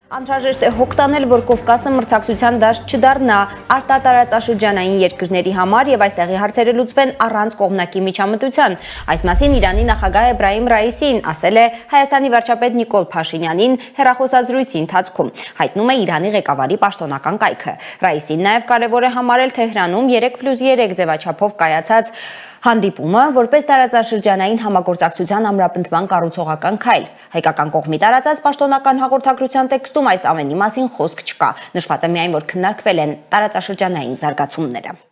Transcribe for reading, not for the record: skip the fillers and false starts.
Անհրաժեշտ է հոգ տանել, որ Կովկասը մրցակցության դաշտ չդառնա արտատարածաշրջանային երկրների համար եւ այստեղի հարցերը լուծվեն առանց կողմնակի միջամտության։ Այս մասին Իրանի նախագահ Էբրահիմ Ռայիսին ասել է Հայաստանի վարչապետ Նիկոլ Փաշինյանին հեռախոսազրույցի ընթացքում, հայտնում է Իրանի ղեկավարի պաշտոնական կայքը։ Ռայիսին նաեւ կարեւոր է համարել Թեհրանում 3+3 ձևաչափով կայացած հանդիպումը որպես տարածաշրջանային համագործակցության ամրապնդման կառուցողական քայլ։ Հայկական կողմի տարածած պաշտոնական հաղորդագրության տեքստում այս ամենի մասին խոսք չկա։ Նշված է միայն, որ քննարկվել են տարածաշրջանային զարգացումները։